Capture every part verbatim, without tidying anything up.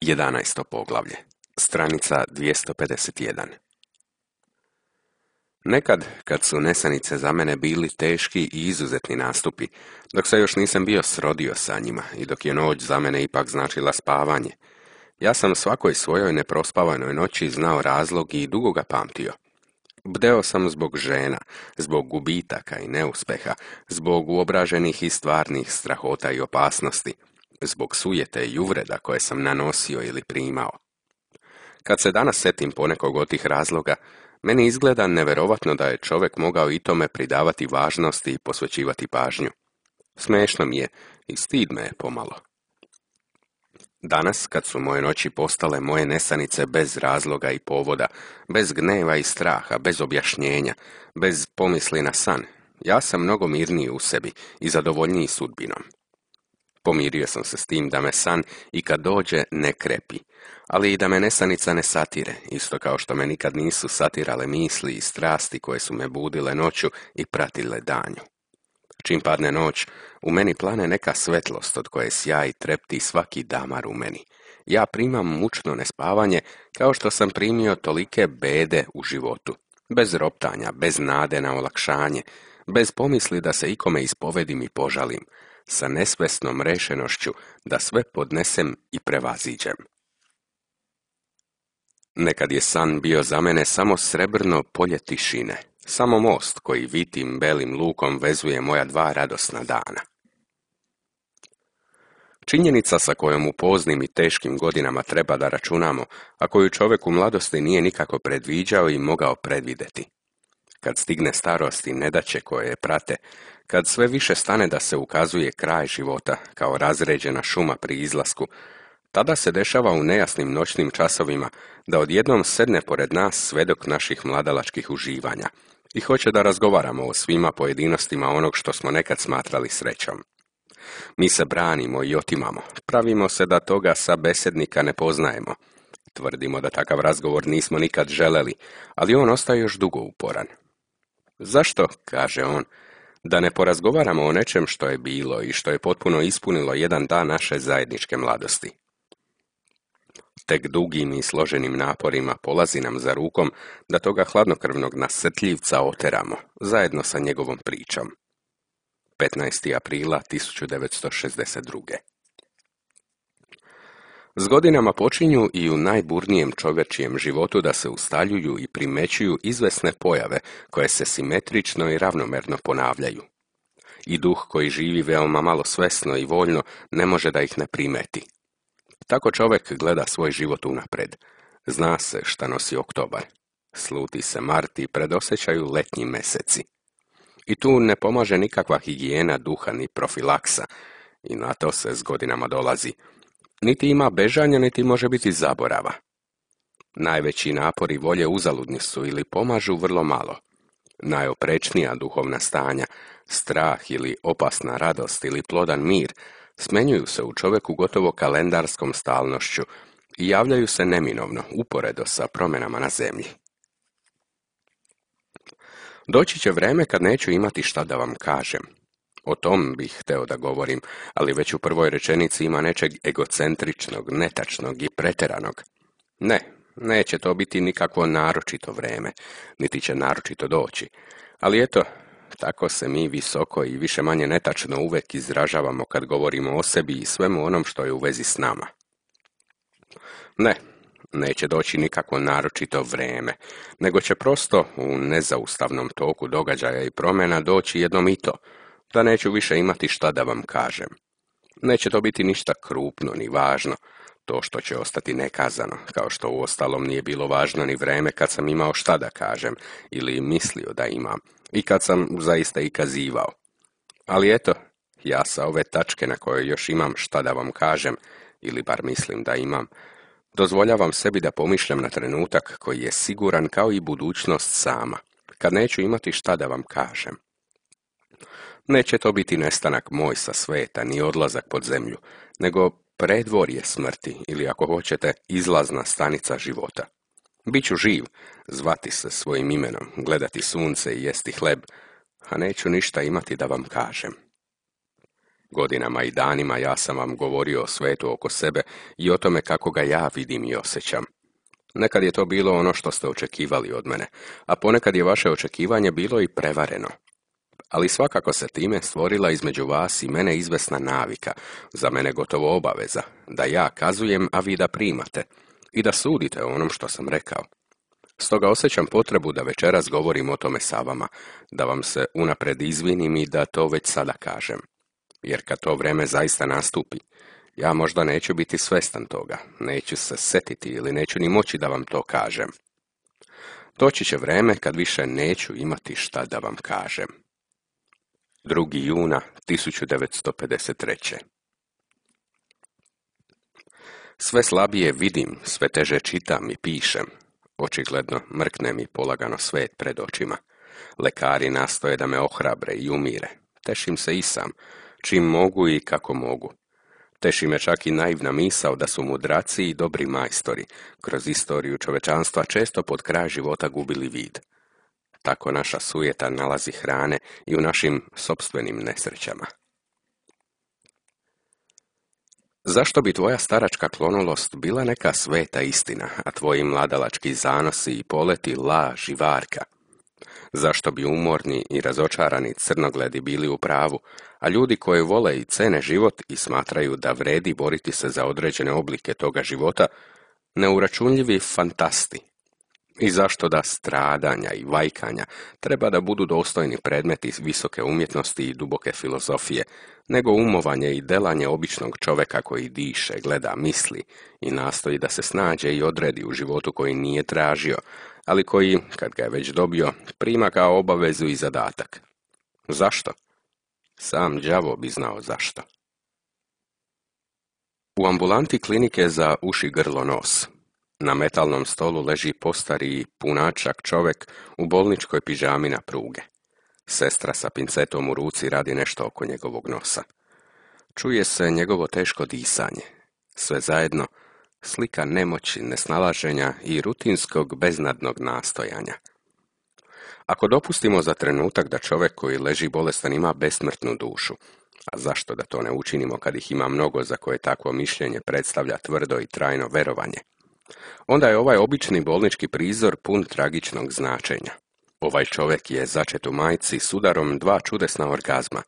Jedanaesto poglavlje, stranica dvjesto pedeset jedan. Nekad, kad su nesanice za mene bili teški i izuzetni nastupi, dok se još nisam bio srodio sa njima i dok je noć za mene ipak značila spavanje, ja sam svakoj svojoj neprospavanoj noći znao razlog i dugo ga pamtio. Bdeo sam zbog žena, zbog gubitaka i neuspeha, zbog uobraženih i stvarnih strahota i opasnosti, zbog sujete i uvreda koje sam nanosio ili primao. Kad se danas setim ponekog od tih razloga, meni izgleda neverovatno da je čovjek mogao i tome pridavati važnosti i posvećivati pažnju. Smešno mi je i stid me je pomalo. Danas, kad su moje noći postale moje nesanice bez razloga i povoda, bez gneva i straha, bez objašnjenja, bez pomisli na san, ja sam mnogo mirniji u sebi i zadovoljniji sudbinom. Pomirio sam se s tim da me san i kad dođe ne krepi, ali i da me nesanica ne satire, isto kao što me nikad nisu satirale misli i strasti koje su me budile noću i pratile danju. Čim padne noć, u meni plane neka svetlost od koje sja i trepti svaki damar u meni. Ja primam mučno nespavanje kao što sam primio tolike bede u životu, bez roptanja, bez nade na olakšanje, bez pomisli da se ikome ispovedim i požalim, sa nesvesnom rešenošću da sve podnesem i prevaziđem. Nekad je san bio za mene samo srebrno polje tišine, samo most koji vitim belim lukom vezuje moja dva radosna dana. Činjenica sa kojom u poznim i teškim godinama treba da računamo, a koju čovjek u mladosti nije nikako predviđao i mogao predvideti. Kad stigne starost i nedaće koje je prate, kad sve više stane da se ukazuje kraj života kao razređena šuma pri izlasku, tada se dešava u nejasnim noćnim časovima da odjednom sedne pored nas svedok naših mladalačkih uživanja i hoće da razgovaramo o svima pojedinostima onog što smo nekad smatrali srećom. Mi se branimo i otimamo, pravimo se da toga sabesednika ne poznajemo. Tvrdimo da takav razgovor nismo nikad želeli, ali on ostaje još dugo uporan. Zašto, kaže on, da ne porazgovaramo o nečem što je bilo i što je potpuno ispunilo jedan dan naše zajedničke mladosti? Tek dugim i složenim naporima polazi nam za rukom da toga hladnokrvnog nasrtljivca oteramo, zajedno sa njegovom pričom. petnaestog aprila tisuću devetsto šezdeset druge. S godinama počinju i u najburnijem čovječijem životu da se ustaljuju i primećuju izvesne pojave koje se simetrično i ravnomerno ponavljaju. I duh koji živi veoma malo svesno i voljno ne može da ih ne primeti. Tako čovjek gleda svoj život unapred. Zna se šta nosi oktobar. Sluti se mart i predosjećaju letnji meseci. I tu ne pomaže nikakva higijena duha ni profilaksa. I na to se s godinama dolazi. Niti ima bežanja, niti može biti zaborava. Najveći napori volje uzaludni su ili pomažu vrlo malo. Najoprečnija duhovna stanja, strah ili opasna radost ili plodan mir, smenjuju se u čovjeku gotovo kalendarskom stalnošću i javljaju se neminovno, uporedo sa promjenama na zemlji. Doći će vreme kad neću imati šta da vam kažem. O tom bih hteo da govorim, ali već u prvoj rečenici ima nečeg egocentričnog, netačnog i preteranog. Ne, neće to biti nikakvo naročito vreme, niti će naročito doći. Ali eto, tako se mi visoko i više manje netačno uvek izražavamo kad govorimo o sebi i svemu onom što je u vezi s nama. Ne, neće doći nikakvo naročito vreme, nego će prosto u nezaustavnom toku događaja i promjena doći jednom i to, da neću više imati šta da vam kažem. Neće to biti ništa krupno ni važno, to što će ostati nekazano, kao što uostalom nije bilo važno ni vreme kad sam imao šta da kažem ili mislio da imam i kad sam zaista i kazivao. Ali eto, ja sa ove tačke na kojoj još imam šta da vam kažem, ili bar mislim da imam, dozvoljavam sebi da pomišljam na trenutak koji je siguran kao i budućnost sama, kad neću imati šta da vam kažem. Neće to biti nestanak moj sa sveta, ni odlazak pod zemlju, nego predvorje smrti ili ako hoćete izlazna stanica života. Biću živ, zvati se svojim imenom, gledati sunce i jesti hleb, a neću ništa imati da vam kažem. Godinama i danima ja sam vam govorio o svetu oko sebe i o tome kako ga ja vidim i osjećam. Nekad je to bilo ono što ste očekivali od mene, a ponekad je vaše očekivanje bilo i prevareno. Ali svakako se time stvorila između vas i mene izvesna navika, za mene gotovo obaveza, da ja kazujem, a vi da primate, i da sudite o onom što sam rekao. Stoga osjećam potrebu da večeras govorim o tome sa vama, da vam se unaprijed izvinim i da to već sada kažem. Jer kad to vrijeme zaista nastupi, ja možda neću biti svestan toga, neću se setiti ili neću ni moći da vam to kažem. Doći će vrijeme kad više neću imati šta da vam kažem. drugi juna tisuću devetsto pedeset treće. Sve slabije vidim, sve teže čitam i pišem. Očigledno mrkne mi polagano svet pred očima. Lekari nastoje da me ohrabre i umire. Tešim se i sam, čim mogu i kako mogu. Teši me čak i naivna misao da su mudraci i dobri majstori kroz istoriju čovečanstva često pod kraj života gubili vid. Tako naša sujeta nalazi hrane i u našim sopstvenim nesrećama. Zašto bi tvoja staračka klonulost bila neka sveta istina, a tvoji mladalački zanosi i poleti laž i varka? Zašto bi umorni i razočarani crnogledi bili u pravu, a ljudi koji vole i cene život i smatraju da vredi boriti se za određene oblike toga života, neuračunljivi fantasti? I zašto da stradanja i vajkanja treba da budu dostojni predmeti visoke umjetnosti i duboke filozofije, nego umovanje i delanje običnog čoveka koji diše, gleda, misli i nastoji da se snađe i odredi u životu koji nije tražio, ali koji, kad ga je već dobio, prima kao obavezu i zadatak. Zašto? Sam đavo bi znao zašto. U ambulanti klinike za uši, grlo, nos na metalnom stolu leži postari punačak čovek u bolničkoj pižami na pruge. Sestra sa pincetom u ruci radi nešto oko njegovog nosa. Čuje se njegovo teško disanje. Sve zajedno slika nemoći, nesnalaženja i rutinskog beznadnog nastojanja. Ako dopustimo za trenutak da čovjek koji leži bolestan ima besmrtnu dušu, a zašto da to ne učinimo kad ih ima mnogo za koje takvo mišljenje predstavlja tvrdo i trajno verovanje, onda je ovaj obični bolnički prizor pun tragičnog značenja. Ovaj čovjek je začet u majci s udarom dva čudesna orgazma,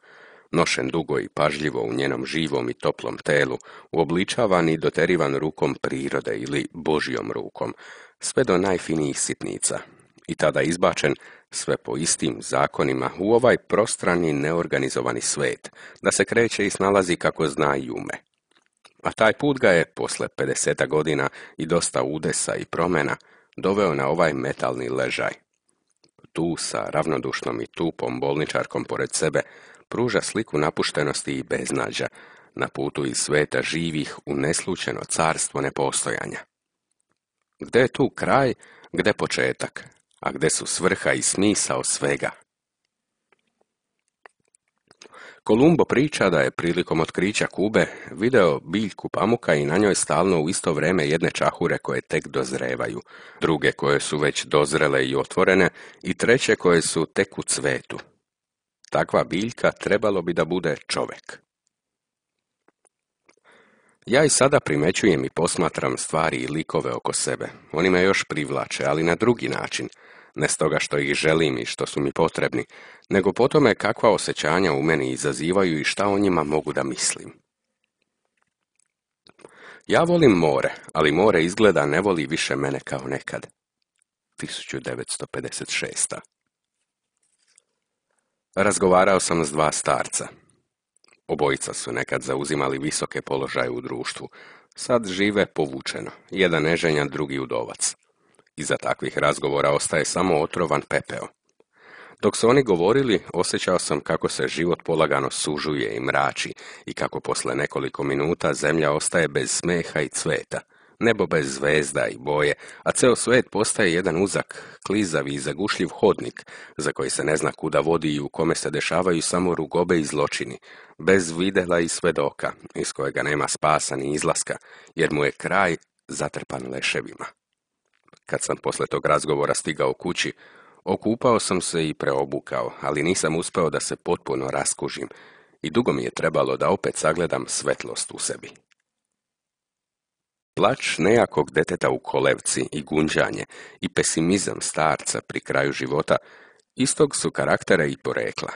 nošen dugo i pažljivo u njenom živom i toplom telu, uobličavan i doterivan rukom prirode ili Božjom rukom, sve do najfinijih sitnica, i tada izbačen, sve po istim zakonima, u ovaj prostrani neorganizovani svet, da se kreće i snalazi kako zna i ume. A taj put ga je, posle pedeseta godina i dosta udesa i promjena, doveo na ovaj metalni ležaj. Tu, sa ravnodušnom i tupom bolničarkom pored sebe, pruža sliku napuštenosti i beznađa, na putu iz sveta živih u neslučeno carstvo nepostojanja. Gde je tu kraj, gde početak, a gde su svrha i smisao svega? Kolumbo priča da je prilikom otkrića Kube video biljku pamuka i na njoj stalno u isto vrijeme jedne čahure koje tek dozrevaju, druge koje su već dozrele i otvorene i treće koje su tek u cvetu. Takva biljka trebalo bi da bude čovek. Ja i sada primećujem i posmatram stvari i likove oko sebe. Oni me još privlače, ali na drugi način. Ne stoga što ih želim i što su mi potrebni, nego po tome kakva osjećanja u meni izazivaju i šta o njima mogu da mislim. Ja volim more, ali more izgleda ne voli više mene kao nekad. tisuću devetsto pedeset šesta. Razgovarao sam s dva starca. Obojica su nekad zauzimali visoke položaje u društvu. Sad žive povučeno, jedan neženjan, drugi udovac. Iza takvih razgovora ostaje samo otrovan pepeo. Dok su oni govorili, osjećao sam kako se život polagano sužuje i mrači i kako posle nekoliko minuta zemlja ostaje bez smeha i cveta, nebo bez zvezda i boje, a ceo svet postaje jedan uzak, klizavi i zagušljiv hodnik za koji se ne zna kuda vodi i u kome se dešavaju samo rugobe i zločini, bez videla i svedoka, iz kojega nema spasa ni izlaska, jer mu je kraj zatrpan leševima. Kad sam posle tog razgovora stigao kući, okupao sam se i preobukao, ali nisam uspeo da se potpuno raskužim, i dugo mi je trebalo da opet sagledam svetlost u sebi. Plač nejakog deteta u kolevci i gunđanje i pesimizam starca pri kraju života istog su karaktera i porekla.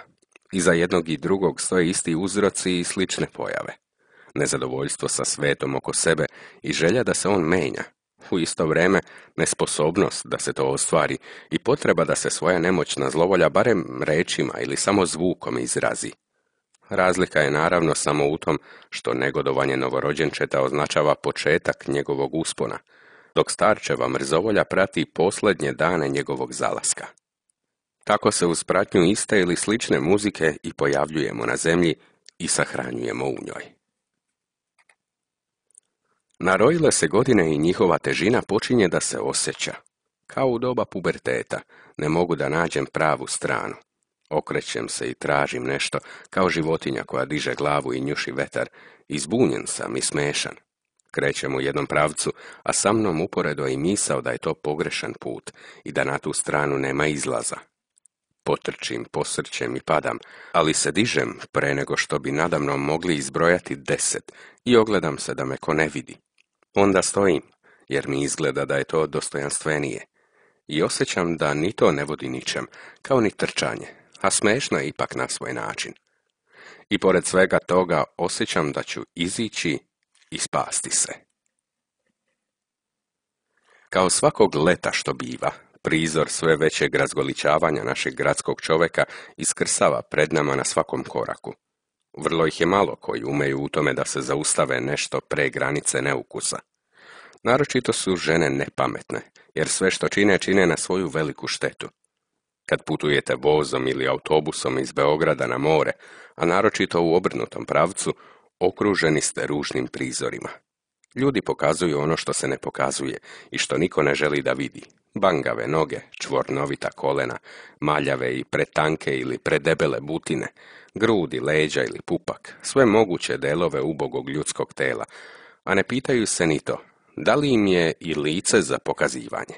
Iza jednog i drugog stoje isti uzroci i slične pojave. Nezadovoljstvo sa svetom oko sebe i želja da se on menja. U isto vrijeme nesposobnost da se to ostvari i potreba da se svoja nemoćna zlovolja barem rečima ili samo zvukom izrazi. Razlika je naravno samo u tom što negodovanje novorođenčeta označava početak njegovog uspona, dok starčeva mrzovolja prati posljednje dane njegovog zalaska. Tako se uz pratnju iste ili slične muzike i pojavljujemo na zemlji i sahranjujemo u njoj. Narojile se godine i njihova težina počinje da se osjeća. Kao u doba puberteta, ne mogu da nađem pravu stranu. Okrećem se i tražim nešto, kao životinja koja diže glavu i njuši vetar, i zbunjen sam i smešan. Krećem u jednom pravcu, a sa mnom uporedo i misao da je to pogrešan put i da na tu stranu nema izlaza. Potrčim, posrćem i padam, ali se dižem pre nego što bi nadamnom mogli izbrojati deset i ogledam se da me ko ne vidi. Onda stojim, jer mi izgleda da je to dostojanstvenije. I osjećam da ni to ne vodi ničem, kao ni trčanje, a smešno je ipak na svoj način. I pored svega toga osjećam da ću izići i spasti se. Kao svakog leta što biva, prizor sve većeg razgoličavanja našeg gradskog čoveka iskrsava pred nama na svakom koraku. Vrlo ih je malo koji umeju u tome da se zaustave nešto pre granice neukusa. Naročito su žene nepametne, jer sve što čine, čine na svoju veliku štetu. Kad putujete vozom ili autobusom iz Beograda na more, a naročito u obrnutom pravcu, okruženi ste ružnim prizorima. Ljudi pokazuju ono što se ne pokazuje i što niko ne želi da vidi. Bangave noge, čvornovita kolena, maljave i pretanke ili predebele butine, grudi, leđa ili pupak, sve moguće delove ubogog ljudskog tela, a ne pitaju se ni to, da li im je i lice za pokazivanje.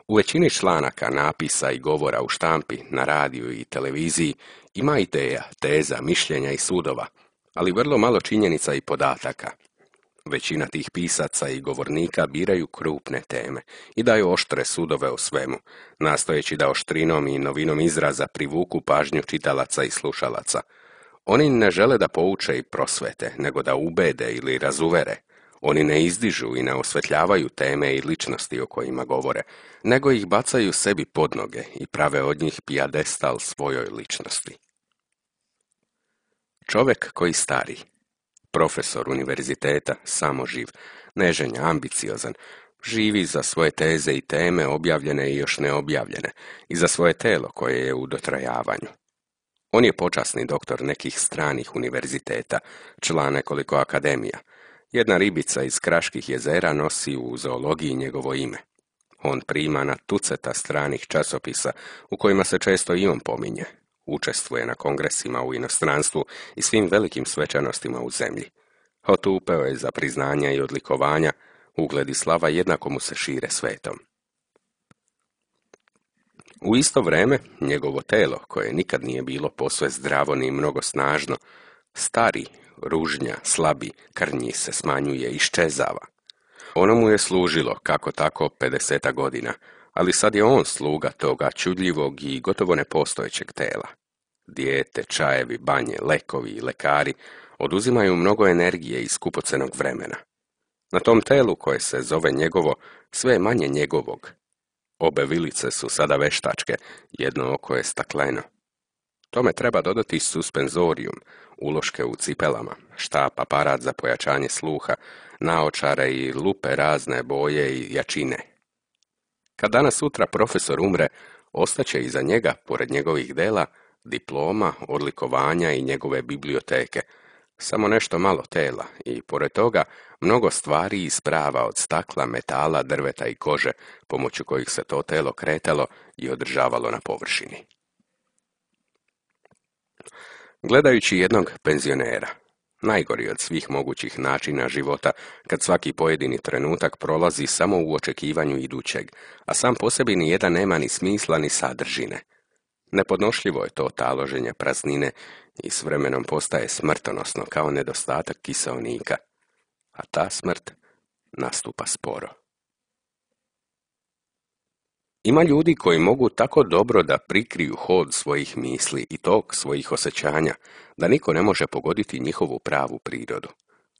U većini članaka, napisa i govora u štampi, na radiju i televiziji ima ideja, teza, mišljenja i sudova, ali vrlo malo činjenica i podataka. Većina tih pisaca i govornika biraju krupne teme i daju oštre sudove o svemu, nastojeći da oštrinom i novinom izraza privuku pažnju čitalaca i slušalaca. Oni ne žele da pouče i prosvete, nego da ubede ili razuvere. Oni ne izdižu i ne osvetljavaju teme i ličnosti o kojima govore, nego ih bacaju sebi pod noge i prave od njih pijadestal svojoj ličnosti. Čovek koji stari, profesor univerziteta, samoživ, neženja, ambiciozan, živi za svoje teze i teme objavljene i još neobjavljene i za svoje telo koje je u dotrajavanju. On je počasni doktor nekih stranih univerziteta, član nekoliko akademija. Jedna ribica iz Kraških jezera nosi u zoologiji njegovo ime. On prima na tuceta stranih časopisa u kojima se često i on pominje. Učestvuje na kongresima u inostranstvu i svim velikim svečanostima u zemlji. Otupeo je za priznanja i odlikovanja, ugled i slava jednako mu se šire svetom. U isto vreme, njegovo telo, koje nikad nije bilo posve zdravo ni mnogo snažno, stari, ružnja, slabi, krnji se, smanjuje, iščezava. Ono mu je služilo, kako tako, pedeseta godina, ali sad je on sluga toga čudljivog i gotovo nepostojećeg tela. Dijete, čajevi, banje, lekovi i lekari oduzimaju mnogo energije i skupocenog vremena. Na tom telu koje se zove njegovo, sve je manje njegovog. Obe vilice su sada veštačke, jedno oko je stakleno. Tome treba dodati suspenzorium, uloške u cipelama, štap, aparat za pojačanje sluha, naočare i lupe razne boje i jačine. Kad danas sutra profesor umre, ostaće iza njega, pored njegovih dela, diploma, odlikovanja i njegove biblioteke, samo nešto malo tela i, pored toga, mnogo stvari i sprava od stakla, metala, drveta i kože, pomoću kojih se to telo kretalo i održavalo na površini. Gledajući jednog penzionera, najgori od svih mogućih načina života, kad svaki pojedini trenutak prolazi samo u očekivanju idućeg, a sam po sebi ni jedan nema ni smisla ni sadržine. Nepodnošljivo je to taloženje praznine i s vremenom postaje smrtonosno kao nedostatak kiseonika, a ta smrt nastupa sporo. Ima ljudi koji mogu tako dobro da prikriju hod svojih misli i tok svojih osjećanja, da niko ne može pogoditi njihovu pravu prirodu.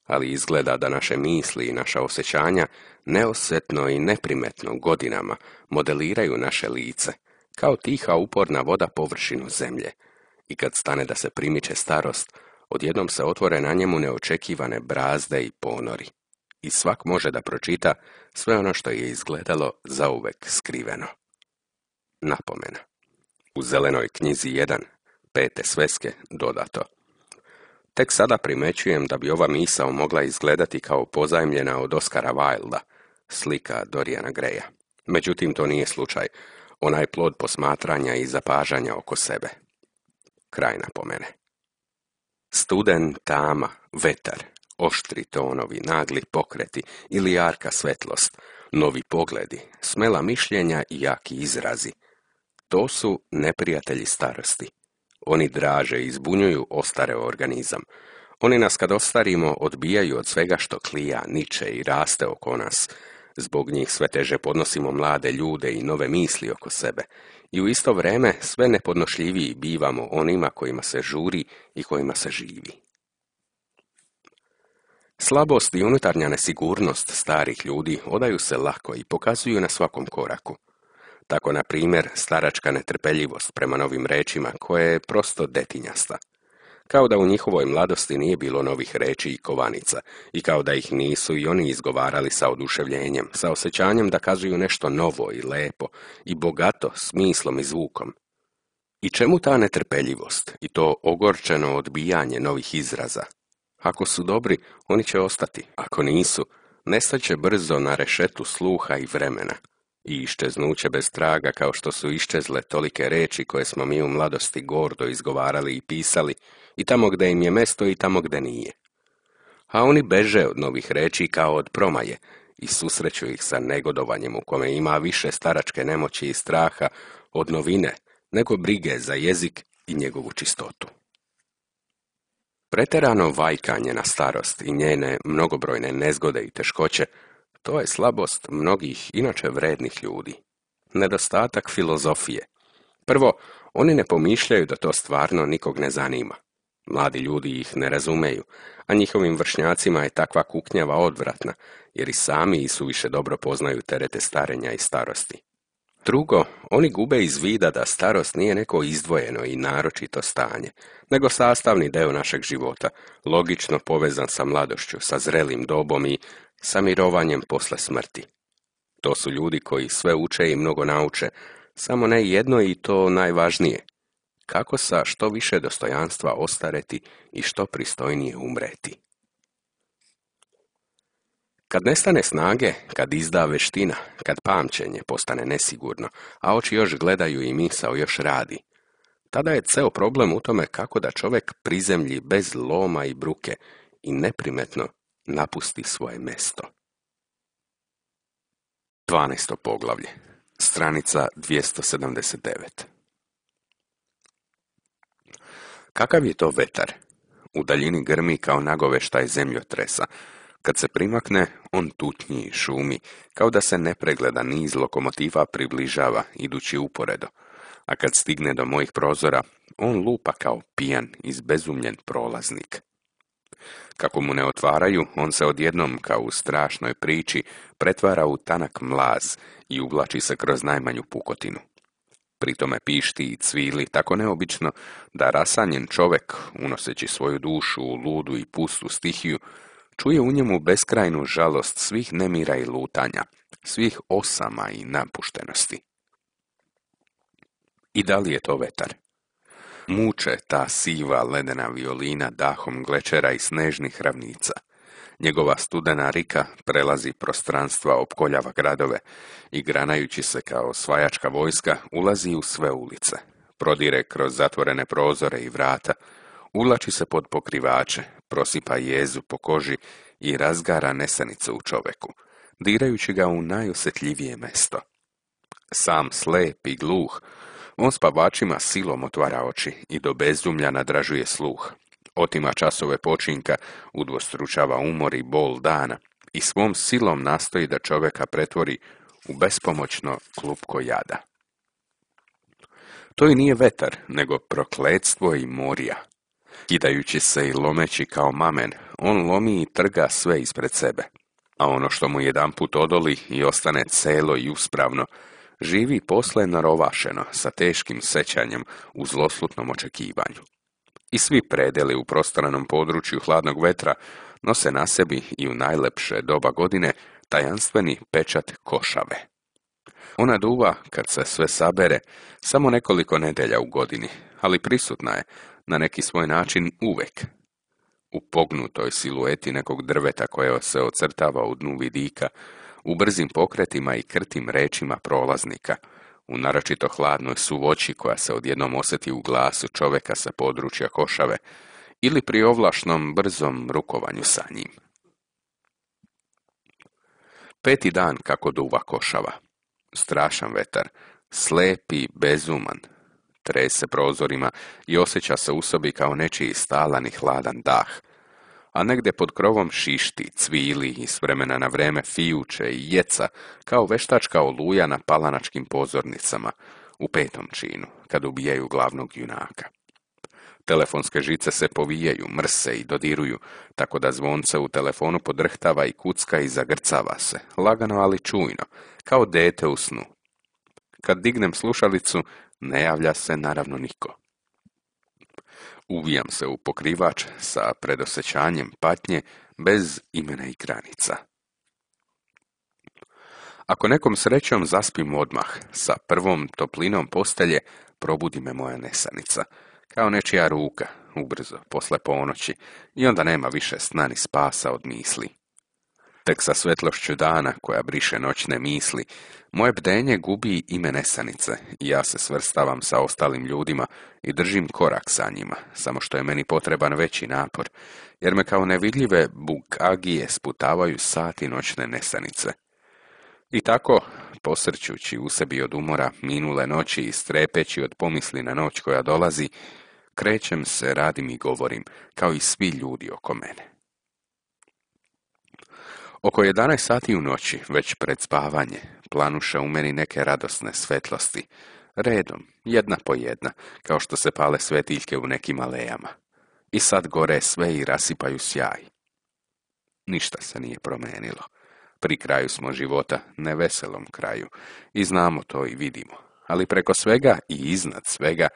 Ali izgleda da naše misli i naša osjećanja neosjetno i neprimetno godinama modeliraju naše lice, kao tiha uporna voda površinu zemlje. I kad stane da se primiče starost, odjednom se otvore na njemu neočekivane brazde i ponori. I svak može da pročita sve ono što je izgledalo zauvek skriveno. Napomena. U zelenoj knjizi jedan, pete sveske, dodato. Tek sada primećujem da bi ova misao mogla izgledati kao pozajmljena od Oskara Wilda, slika Doriana Greya. Međutim, to nije slučaj. Ona je plod posmatranja i zapažanja oko sebe. Kraj napomene. Studen, tama, vetar, oštri tonovi, nagli pokreti ili jarka svetlost, novi pogledi, smela mišljenja i jaki izrazi. To su neprijatelji starosti. Oni draže i zbunjuju ostare organizam. Oni nas kad ostarimo odbijaju od svega što klija, niče i raste oko nas. Zbog njih sve teže podnosimo mlade ljude i nove misli oko sebe. I u isto vrijeme sve nepodnošljiviji bivamo onima kojima se žuri i kojima se živi. Slabost i unutarnja nesigurnost starih ljudi odaju se lako i pokazuju na svakom koraku. Tako, na primjer, staračka netrpeljivost prema novim rečima koja je prosto detinjasta. Kao da u njihovoj mladosti nije bilo novih reči i kovanica i kao da ih nisu i oni izgovarali sa oduševljenjem, sa osjećanjem da kazuju nešto novo i lepo i bogato smislom i zvukom. I čemu ta netrpeljivost i to ogorčeno odbijanje novih izraza? Ako su dobri, oni će ostati. Ako nisu, nestaće brzo na rešetu sluha i vremena. I iščeznuće bez traga kao što su iščezle tolike reči koje smo mi u mladosti gordo izgovarali i pisali, i tamo gdje im je mesto i tamo gdje nije. A oni beže od novih reči kao od promaje i susreću ih sa negodovanjem u kome ima više staračke nemoći i straha od novine nego brige za jezik i njegovu čistotu. Preterano vajkanje na starost i njene mnogobrojne nezgode i teškoće, to je slabost mnogih inače vrednih ljudi. Nedostatak filozofije. Prvo, oni ne pomišljaju da to stvarno nikog ne zanima. Mladi ljudi ih ne razumeju, a njihovim vršnjacima je takva kuknjava odvratna, jer i sami i suviše dobro poznaju terete starenja i starosti. Drugo, oni gube iz vida da starost nije neko izdvojeno i naročito stanje, nego sastavni dio našeg života, logično povezan sa mladošću, sa zrelim dobom i sa mirovanjem posle smrti. To su ljudi koji sve uče i mnogo nauče, samo ne jedno i to najvažnije. Kako sa što više dostojanstva ostareti i što pristojnije umreti. Kad nestane snage, kad izda veština, kad pamćenje postane nesigurno, a oči još gledaju i misao još radi, tada je ceo problem u tome kako da čovjek prizemlji bez loma i bruke i neprimetno napusti svoje mesto. dvanaesto poglavlje, stranica dvjesto sedamdeset devet. Kakav je to vetar? U daljini grmi kao nagoveštaj zemljotresa. Kad se primakne, on tutnji i šumi, kao da se nepregledan niz lokomotiva približava, idući uporedo. A kad stigne do mojih prozora, on lupa kao pijan, izbezumljen prolaznik. Kako mu ne otvaraju, on se odjednom, kao u strašnoj priči, pretvara u tanak mlaz i uvlači se kroz najmanju pukotinu. Pritome pišti i cvili tako neobično da rasanjen čovek, unoseći svoju dušu u ludu i pustu stihiju, čuje u njemu beskrajnu žalost svih nemira i lutanja, svih osama i napuštenosti. I da li je to vetar? Muče ta siva ledena violina dahom glečera i snežnih ravnica. Njegova studena rika prelazi prostranstva, opkoljava gradove i granajući se kao svajačka vojska ulazi u sve ulice. Prodire kroz zatvorene prozore i vrata, uvlači se pod pokrivače, prosipa jezu po koži i razgara nesanice u čoveku, dirajući ga u najosjetljivije mesto. Sam slep i gluh, On spavačima silom otvara oči i do bezumlja nadražuje sluh. Otima časove počinka, udvostručava umor i bol dana i svom silom nastoji da čovjeka pretvori u bespomoćno klupko jada. To i nije vetar, nego prokletstvo i morija. Kidajući se i lomeći kao mamen, on lomi i trga sve ispred sebe. A ono što mu jedanput odoli i ostane celo i uspravno, živi posle narovašeno, sa teškim sećanjem u zloslutnom očekivanju. I svi predeli u prostranom području hladnog vetra nose na sebi i u najlepše doba godine tajanstveni pečat košave. Ona duva, kad se sve sabere, samo nekoliko nedelja u godini, ali prisutna je, na neki svoj način uvek. U pognutoj silueti nekog drveta koje se ocrtava u dnu vidika, u brzim pokretima i krtim rečima prolaznika, u naročito hladnoj suvoći koja se odjednom osjeti u glasu čovjeka sa područja košave ili pri ovlašnom brzom rukovanju sa njim. Peti dan kako duva košava. Strašan vetar, slep i bezuman, trese prozorima i osjeća se u sobi kao nečiji stalan i hladan dah, a negdje pod krovom šišti, cvili i s vremena na vreme fijuče i jeca kao veštačka oluja na palanačkim pozornicama u petom činu, kad ubijaju glavnog junaka. Telefonske žice se povijaju, mrse i dodiruju, tako da zvonce u telefonu podrhtava i kucka i zagrcava se, lagano ali čujno, kao dete u snu. Kad dignem slušalicu, ne javlja se naravno niko. Uvijam se u pokrivač sa predosjećanjem patnje bez imena i granica. Ako nekom srećom zaspim odmah, sa prvom toplinom postelje probudi me moja nesanica, kao nečija ruka, ubrzo, posle ponoći, i onda nema više sna ni spasa od misli. Tek sa svetlošću dana, koja briše noćne misli, moje bdenje gubi ime nesanice i ja se svrstavam sa ostalim ljudima i držim korak sa njima, samo što je meni potreban veći napor, jer me kao nevidljive bukagije sputavaju sati noćne nesanice. I tako, posrćući u sebi od umora minule noći i strepeći od pomisli na noć koja dolazi, krećem se, radim i govorim, kao i svi ljudi oko mene. Oko jedanaest sati u noći, već pred spavanje, planuše u meni neke radosne svetlosti, redom, jedna po jedna, kao što se pale svetiljke u nekim alejama. I sad gore sve i rasipaju sjaj. Ništa se nije promenilo. Pri kraju smo života, neveselom kraju, i znamo to i vidimo, ali preko svega i iznad svega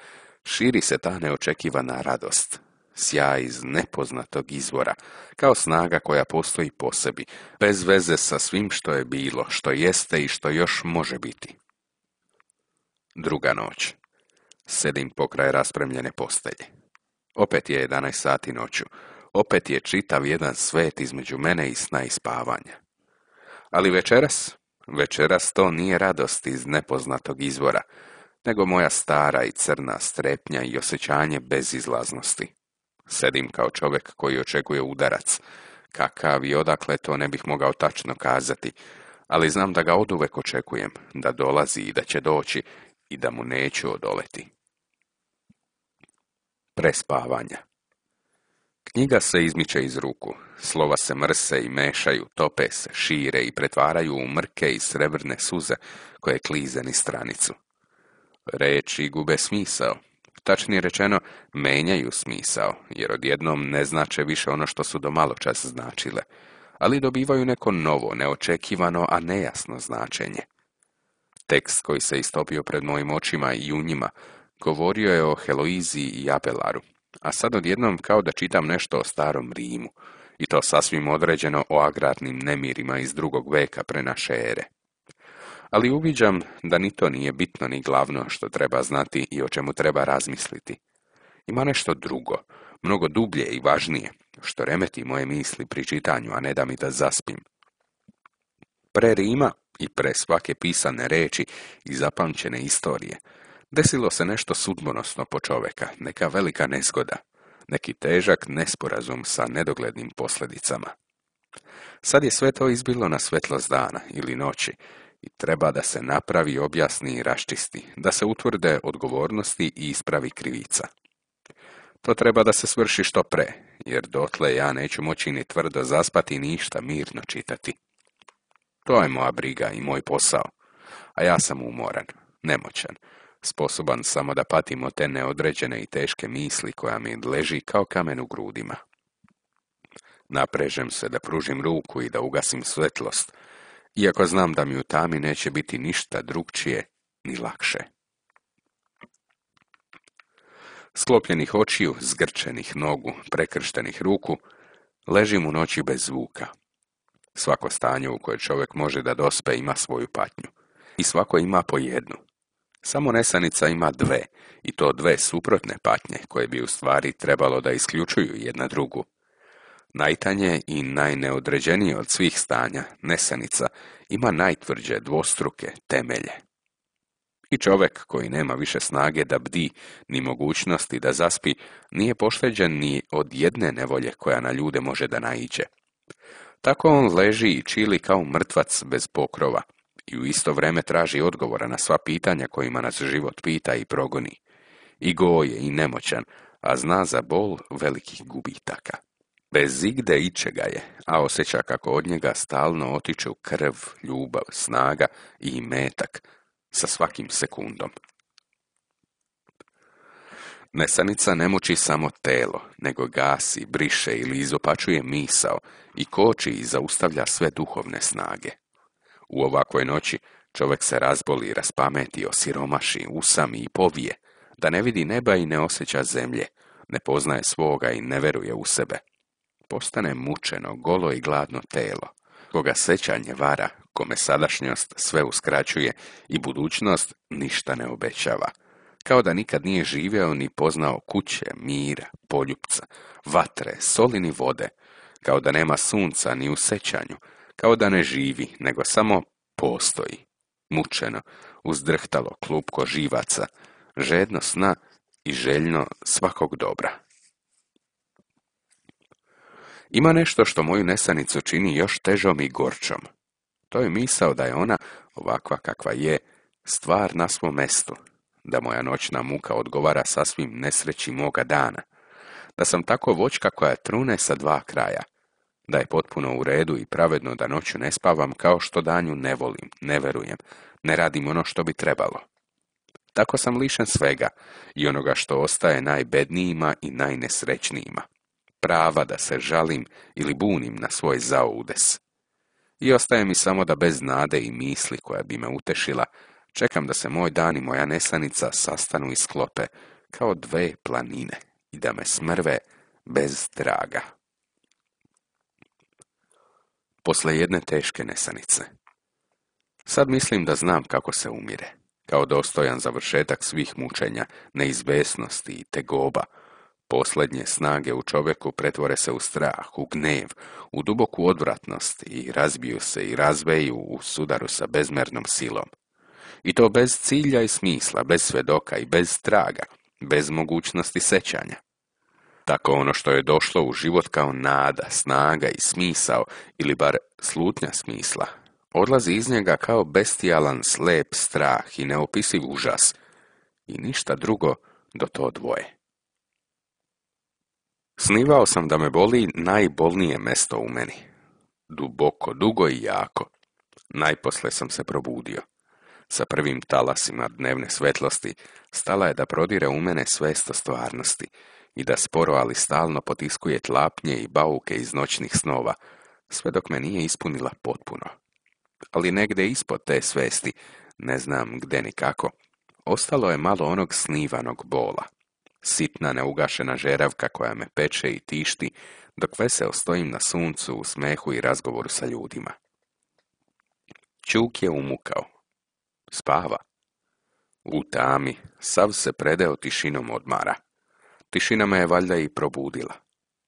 širi se ta neočekivana radost, sjaj iz nepoznatog izvora, kao snaga koja postoji po sebi, bez veze sa svim što je bilo, što jeste i što još može biti. Druga noć. Sedim pokraj raspremljene postelje. Opet je jedanaest sati noću, opet je čitav jedan svet između mene i sna i spavanja. Ali večeras, večeras to nije radost iz nepoznatog izvora, nego moja stara i crna strepnja i osjećanje bezizlaznosti. Sedim kao čovjek koji očekuje udarac, kakav i odakle to ne bih mogao tačno kazati, ali znam da ga oduvek očekujem, da dolazi i da će doći i da mu neću odoleti. Prespavanja. Knjiga se izmiče iz ruku, slova se mrse i mešaju, tope se, šire i pretvaraju u mrke i srebrne suze koje klize niz stranicu. Reči gube smisao, tačnije rečeno menjaju smisao, jer odjednom ne znače više ono što su do maločas značile, ali dobivaju neko novo, neočekivano, a nejasno značenje. Tekst koji se istopio pred mojim očima i u njima govorio je o Heloiziji i Abelaru, a sad odjednom kao da čitam nešto o starom Rimu, i to sasvim određeno o agrarnim nemirima iz drugog veka pre naše ere. Ali uviđam da ni to nije bitno ni glavno što treba znati i o čemu treba razmisliti. Ima nešto drugo, mnogo dublje i važnije, što remeti moje misli pri čitanju, a ne da mi da zaspim. Pre Rima i pre svake pisane reči i zapamćene istorije desilo se nešto sudbonosno po čoveka, neka velika nezgoda, neki težak nesporazum sa nedoglednim posljedicama. Sad je sve to izbilo na svetlost dana ili noći i treba da se napravi, objasni i raščisti, da se utvrde odgovornosti i ispravi krivica. To treba da se svrši što pre, jer dotle ja neću moći ni tvrdo zaspati, ništa mirno čitati. To je moja briga i moj posao, a ja sam umoran, nemoćan, sposoban samo da patim od te neodređene i teške misli koja mi leži kao kamen u grudima. Naprežem se da pružim ruku i da ugasim svetlost, iako znam da mi u tami neće biti ništa drugčije ni lakše. Sklopljenih očiju, zgrčenih nogu, prekrštenih ruku, ležim u noći bez zvuka. Svako stanje u koje čovjek može da dospe ima svoju patnju. I svako ima po jednu. Samo nesanica ima dve, i to dve suprotne patnje, koje bi u stvari trebalo da isključuju jedna drugu. Najtanje i najneodređenije od svih stanja, nesanica, ima najtvrđe dvostruke temelje. I čovjek koji nema više snage da bdi, ni mogućnosti da zaspi, nije pošteđen ni od jedne nevolje koja na ljude može da naiđe. Tako on leži i čili kao mrtvac bez pokrova i u isto vrijeme traži odgovora na sva pitanja kojima nas život pita i progoni. I go je i nemoćan, a zna za bol velikih gubitaka. Bez igde ičega je, a osjeća kako od njega stalno otiču krv, ljubav, snaga i imetak sa svakim sekundom. Nesanica ne muči samo telo, nego gasi, briše ili izopačuje misao i koči i zaustavlja sve duhovne snage. U ovakvoj noći čovjek se razboli, raspameti, osiromaši, usami i povije, da ne vidi neba i ne osjeća zemlje, ne poznaje svoga i ne veruje u sebe. Postane mučeno, golo i gladno telo, koga sećanje vara, kome sadašnjost sve uskraćuje i budućnost ništa ne obećava. Kao da nikad nije živio ni poznao kuće, mira, poljupca, vatre, soli ni vode, kao da nema sunca ni u sećanju, kao da ne živi, nego samo postoji, mučeno, uzdrhtalo klupko živaca, žedno sna i željno svakog dobra. Ima nešto što moju nesanicu čini još težom i gorčom. To je misao da je ona, ovakva kakva je, stvar na svom mestu, da moja noćna muka odgovara sasvim nesreći moga dana, da sam tako voćka koja trune sa dva kraja, da je potpuno u redu i pravedno da noću ne spavam kao što danju ne volim, ne verujem, ne radim ono što bi trebalo. Tako sam lišen svega i onoga što ostaje najbednijima i najnesrećnijima. Prava da se žalim ili bunim na svoj zaudes. I ostaje mi samo da bez nade i misli koja bi me utešila, čekam da se moj dan i moja nesanica sastanu i sklope kao dve planine i da me smrve bez traga. Posle jedne teške nesanice. Sad mislim da znam kako se umire, kao dostojan završetak svih mučenja, neizvesnosti i tegoba. Posljednje snage u čovjeku pretvore se u strah, u gnev, u duboku odvratnost i razbiju se i razveju u sudaru sa bezmernom silom. I to bez cilja i smisla, bez svedoka i bez traga, bez mogućnosti sećanja. Tako ono što je došlo u život kao nada, snaga i smisao, ili bar slutnja smisla, odlazi iz njega kao bestijalan, slep strah i neopisiv užas, i ništa drugo do to dvoje. Snivao sam da me boli najbolnije mesto u meni. Duboko, dugo i jako. Najposle sam se probudio. Sa prvim talasima dnevne svetlosti stala je da prodire u mene svest o stvarnosti i da sporo ali stalno potiskuje tlapnje i bauke iz noćnih snova, sve dok me nije ispunila potpuno. Ali negde ispod te svesti, ne znam gde ni kako, ostalo je malo onog snivanog bola. Sitna neugašena žeravka koja me peče i tišti, dok vesel stojim na suncu u smehu i razgovoru sa ljudima. Čuk je umukao. Spava. U tami sav se predeo tišinom odmara. Tišina me je valjda i probudila.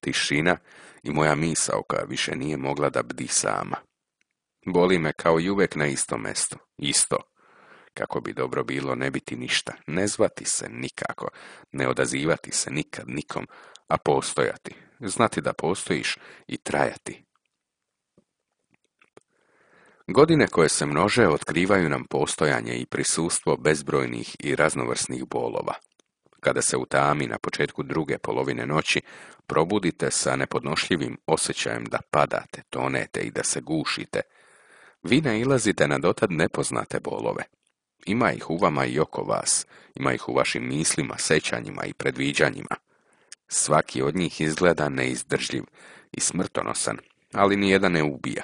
Tišina i moja misao koja više nije mogla da bdi sama. Boli me kao i uvek na istom mestu. Isto. Kako bi dobro bilo ne biti ništa, ne zvati se nikako, ne odazivati se nikad nikom, a postojati, znati da postojiš i trajati. Godine koje se množe otkrivaju nam postojanje i prisustvo bezbrojnih i raznovrsnih bolova. Kada se u tami na početku druge polovine noći probudite sa nepodnošljivim osjećajem da padate, tonete i da se gušite, vi nailazite na dotad nepoznate bolove. Ima ih u vama i oko vas, ima ih u vašim mislima, sećanjima i predviđanjima. Svaki od njih izgleda neizdržljiv i smrtonosan, ali nijedan ne ubija.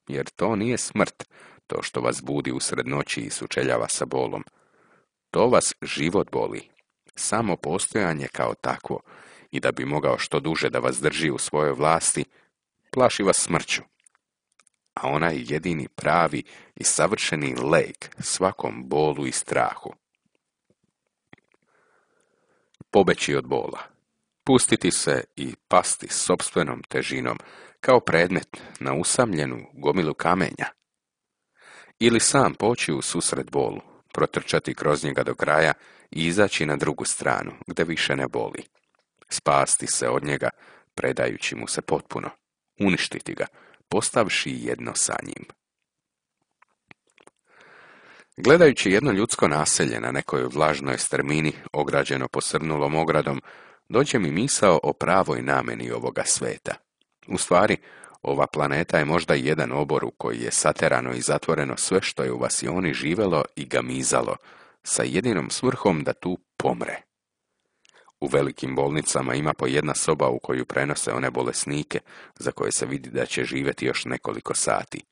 Jer to nije smrt, to što vas budi usred noći i sučeljava sa bolom. To vas život boli. Samo postojanje kao takvo, i da bi mogao što duže da vas drži u svojoj vlasti, plaši vas smrću. A ona je jedini pravi i savršeni lek svakom bolu i strahu. Pobeći od bola. Pustiti se i pasti s sopstvenom težinom kao predmet na usamljenu gomilu kamenja. Ili sam poći u susret bolu, protrčati kroz njega do kraja i izaći na drugu stranu, gdje više ne boli. Spasti se od njega, predajući mu se potpuno. Uništiti ga, postavši jedno sa njim. Gledajući jedno ljudsko naselje na nekoj vlažnoj strmini, ograđeno posrnulom ogradom, dođe mi misao o pravoj nameni ovoga sveta. U stvari, ova planeta je možda jedan obor u koji je saterano i zatvoreno sve što je u vasioni živelo i gamizalo, sa jedinom svrhom da tu pomre. U velikim bolnicama ima po jedna soba u koju prenose one bolesnike, za koje se vidi da će živjeti još nekoliko sati.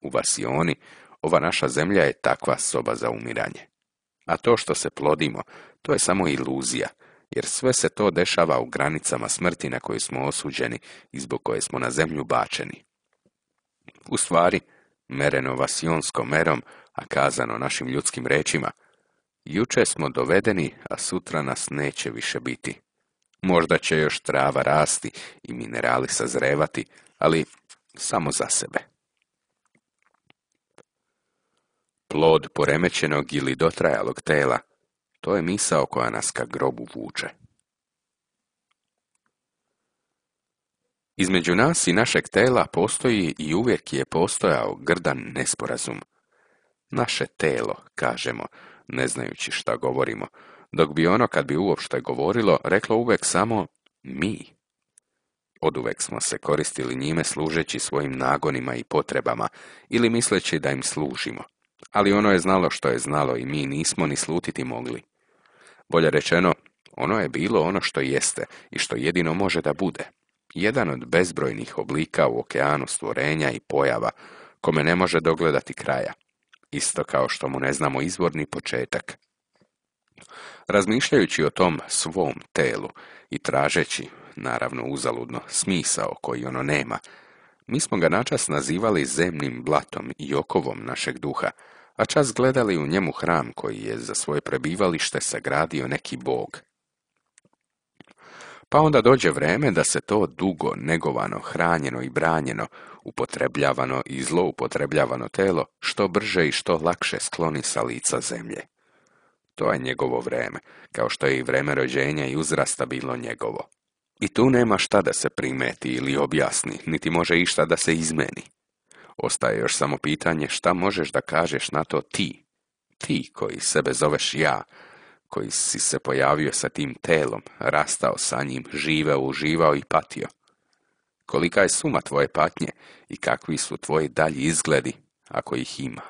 U vasioni, ova naša zemlja je takva soba za umiranje. A to što se plodimo, to je samo iluzija, jer sve se to dešava u granicama smrti na koju smo osuđeni i zbog koje smo na zemlju bačeni. U stvari, mereno vasionskom merom, a kazano našim ljudskim rečima, juče smo dovedeni, a sutra nas neće više biti. Možda će još trava rasti i minerali sazrevati, ali samo za sebe. Plod poremećenog ili dotrajalog tela, to je misao koja nas ka grobu vuče. Između nas i našeg tela postoji i uvijek je postojao grdan nesporazum. Naše telo, kažemo, ne znajući šta govorimo, dok bi ono, kad bi uopšte govorilo, reklo uvijek samo mi. Oduvek smo se koristili njime služeći svojim nagonima i potrebama ili misleći da im služimo. Ali ono je znalo što je znalo i mi nismo ni slutiti mogli. Bolje rečeno, ono je bilo ono što jeste i što jedino može da bude. Jedan od bezbrojnih oblika u okeanu stvorenja i pojava, kome ne može dogledati kraja. Isto kao što mu ne znamo izvorni početak. Razmišljajući o tom svom telu i tražeći, naravno uzaludno, smisao koji ono nema, mi smo ga načas nazivali zemnim blatom i okovom našeg duha, a čas gledali u njemu hram koji je za svoje prebivalište sagradio neki bog. Pa onda dođe vreme da se to dugo, negovano, hranjeno i branjeno, upotrebljavano i zloupotrebljavano telo što brže i što lakše skloni sa lica zemlje. To je njegovo vreme, kao što je i vreme rođenja i uzrasta bilo njegovo. I tu nema šta da se primeti ili objasni, niti može išta da se izmeni. Ostaje još samo pitanje šta možeš da kažeš na to ti, ti koji sebe zoveš ja, koji si se pojavio sa tim telom, rastao sa njim, živeo, uživao i patio. Kolika je suma tvoje patnje i kakvi su tvoji dalji izgledi, ako ih ima.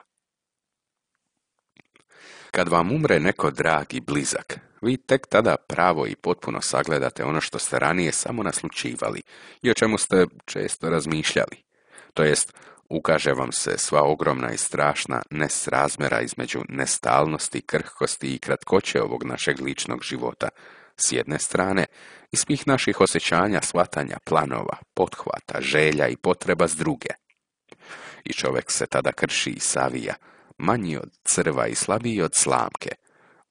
Kad vam umre neko drag i blizak, vi tek tada pravo i potpuno sagledate ono što ste ranije samo naslućivali i o čemu ste često razmišljali. To jest, ukaže vam se sva ogromna i strašna nesrazmjera između nestalnosti, krhkosti i kratkoće ovog našeg ličnog života s jedne strane i svih naših osjećanja, shvatanja, planova, pothvata, želja i potreba s druge. I čovjek se tada krši i savija, manji od crva i slabiji od slamke,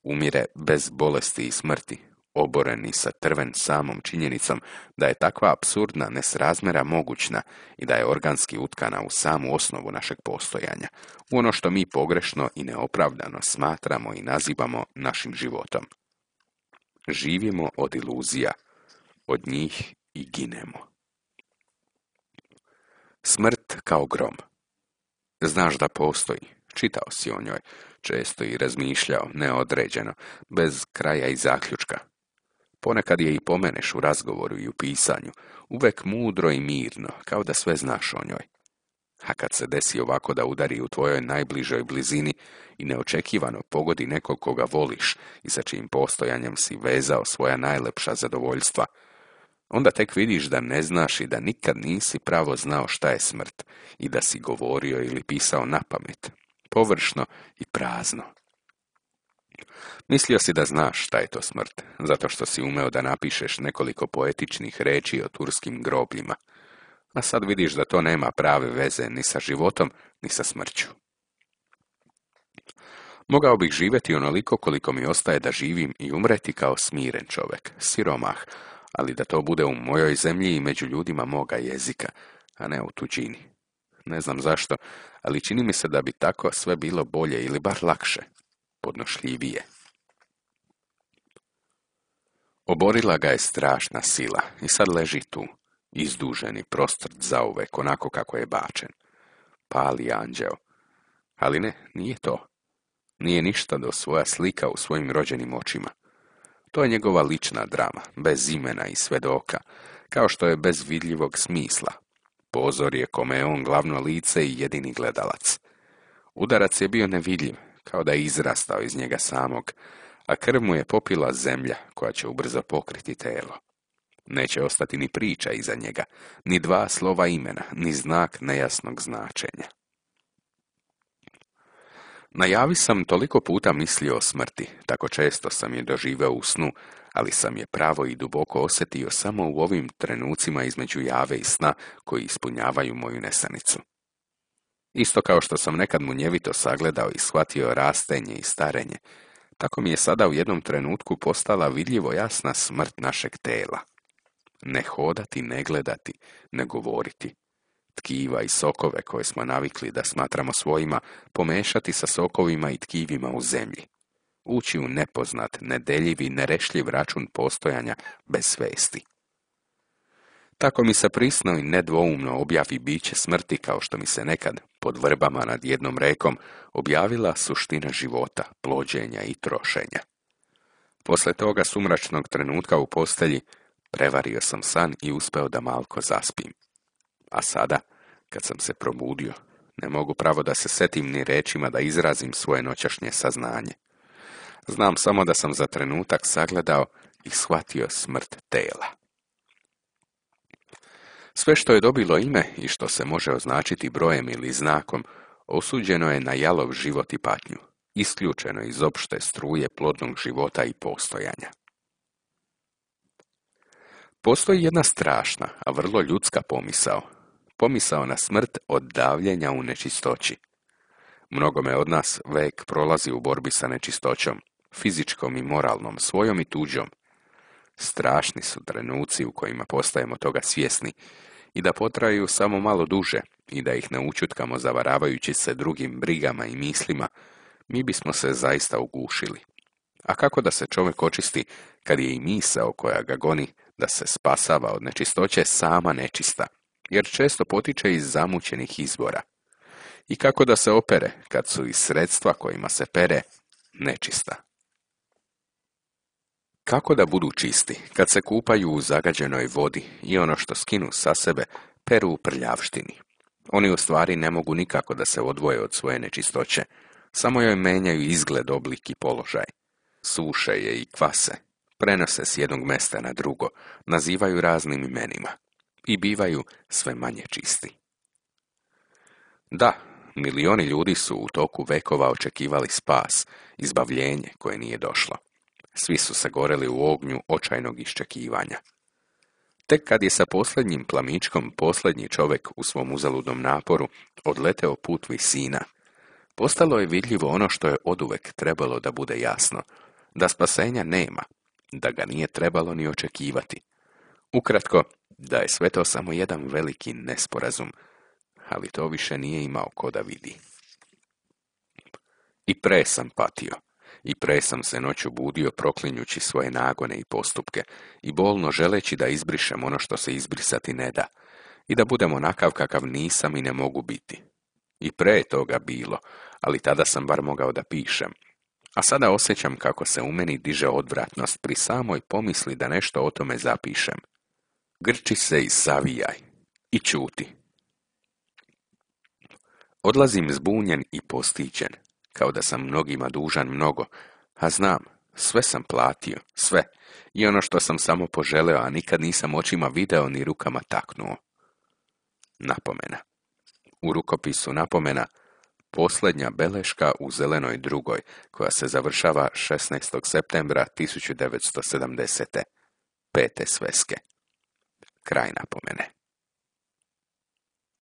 umire bez bolesti i smrti, oboreni sa trven samom činjenicom da je takva apsurdna nesrazmjera mogućna i da je organski utkana u samu osnovu našeg postojanja, u ono što mi pogrešno i neopravdano smatramo i nazivamo našim životom. Živimo od iluzija, od njih i ginemo. Smrt kao grom. Znaš da postoji, čitao si o njoj, često i razmišljao, neodređeno, bez kraja i zaključka. Ponekad je i pomeneš u razgovoru i u pisanju, uvek mudro i mirno, kao da sve znaš o njoj. A kad se desi ovako da udari u tvojoj najbližoj blizini i neočekivano pogodi nekog koga voliš i sa čijim postojanjem si vezao svoja najlepša zadovoljstva, onda tek vidiš da ne znaš i da nikad nisi pravo znao šta je smrt i da si govorio ili pisao napamet, površno i prazno. Mislio si da znaš šta je to smrt, zato što si umeo da napišeš nekoliko poetičnih reči o turskim grobljima, a sad vidiš da to nema prave veze ni sa životom, ni sa smrću. Mogao bih živjeti onoliko koliko mi ostaje da živim i umreti kao smiren čovjek, siromah, ali da to bude u mojoj zemlji i među ljudima moga jezika, a ne u tuđini. Ne znam zašto, ali čini mi se da bi tako sve bilo bolje ili bar lakše, podnošljivije. Oborila ga je strašna sila i sad leži tu, izdužen i prostrt zauvek, onako kako je bačen. Pali anđeo. Ali ne, nije to. Nije ništa do svoja slika u svojim rođenim očima. To je njegova lična drama, bez imena i svedoka, kao što je bez vidljivog smisla. Pozor je kome je on glavno lice i jedini gledalac. Udarac je bio nevidljiv, kao da je izrastao iz njega samog, a krv mu je popila zemlja koja će ubrzo pokriti telo. Neće ostati ni priča iza njega, ni dva slova imena, ni znak nejasnog značenja. Najavi sam toliko puta mislio o smrti, tako često sam je doživeo u snu, ali sam je pravo i duboko osjetio samo u ovim trenucima između jave i sna koji ispunjavaju moju nesanicu. Isto kao što sam nekad munjevito sagledao i shvatio rastenje i starenje, tako mi je sada u jednom trenutku postala vidljivo jasna smrt našeg tela. Ne hodati, ne gledati, ne govoriti. Tkiva i sokove koje smo navikli da smatramo svojima, pomešati sa sokovima i tkivima u zemlji. Ući u nepoznat, nedeljivi, nerešljiv račun postojanja bez svesti. Tako mi se prisno i nedvoumno objavi biće smrti kao što mi se nekad, pod vrbama nad jednom rekom, objavila suština života, plođenja i trošenja. Posle toga sumračnog trenutka u postelji prevario sam san i uspeo da malko zaspim. A sada, kad sam se probudio, ne mogu pravo da se setim ni rečima da izrazim svoje noćašnje saznanje. Znam samo da sam za trenutak sagledao i shvatio smrt tela. Sve što je dobilo ime i što se može označiti brojem ili znakom, osuđeno je na jalov život i patnju, isključeno iz opšte struje plodnog života i postojanja. Postoji jedna strašna, a vrlo ljudska pomisao. Pomisao na smrt od davljenja u nečistoći. Mnogome od nas vek prolazi u borbi sa nečistoćom, fizičkom i moralnom, svojom i tuđom. Strašni su trenuci u kojima postajemo toga svjesni i da potraju samo malo duže i da ih ne učutkamo zavaravajući se drugim brigama i mislima, mi bismo se zaista ugušili. A kako da se čovjek očisti kad je i misao koja ga goni da se spasava od nečistoće sama nečista, jer često potiče iz zamućenih izvora. I kako da se opere kad su i sredstva kojima se pere nečista. Kako da budu čisti kad se kupaju u zagađenoj vodi i ono što skinu sa sebe peru u prljavštini? Oni u stvari ne mogu nikako da se odvoje od svoje nečistoće, samo joj menjaju izgled, oblik i položaj. Suše je i kvase, prenose s jednog mesta na drugo, nazivaju raznim imenima i bivaju sve manje čisti. Da, milioni ljudi su u toku vekova očekivali spas, izbavljenje koje nije došlo. Svi su se goreli u ognju očajnog iščekivanja. Tek kad je sa posljednjim plamičkom posljednji čovjek u svom uzaludnom naporu odleteo put visina, postalo je vidljivo ono što je oduvek trebalo da bude jasno, da spasenja nema, da ga nije trebalo ni očekivati. Ukratko, da je sve to samo jedan veliki nesporazum, ali to više nije imao ko da vidi. I pre sam patio, i pre sam se noću budio proklinjući svoje nagone i postupke i bolno želeći da izbrišem ono što se izbrisati ne da i da budem onakav kakav nisam i ne mogu biti. I pre je toga bilo, ali tada sam bar mogao da pišem. A sada osjećam kako se u meni diže odvratnost pri samoj pomisli da nešto o tome zapišem. Grči se i savijaj. I ćuti. Odlazim zbunjen i postiđen, kao da sam mnogima dužan mnogo, a znam, sve sam platio, sve, i ono što sam samo poželeo, a nikad nisam očima video ni rukama taknuo. Napomena. U rukopisu napomena posljednja beleška u zelenoj drugoj, koja se završava šesnaestog septembra tisuću devetsto sedamdesete. Pete sveske. Kraj napomene.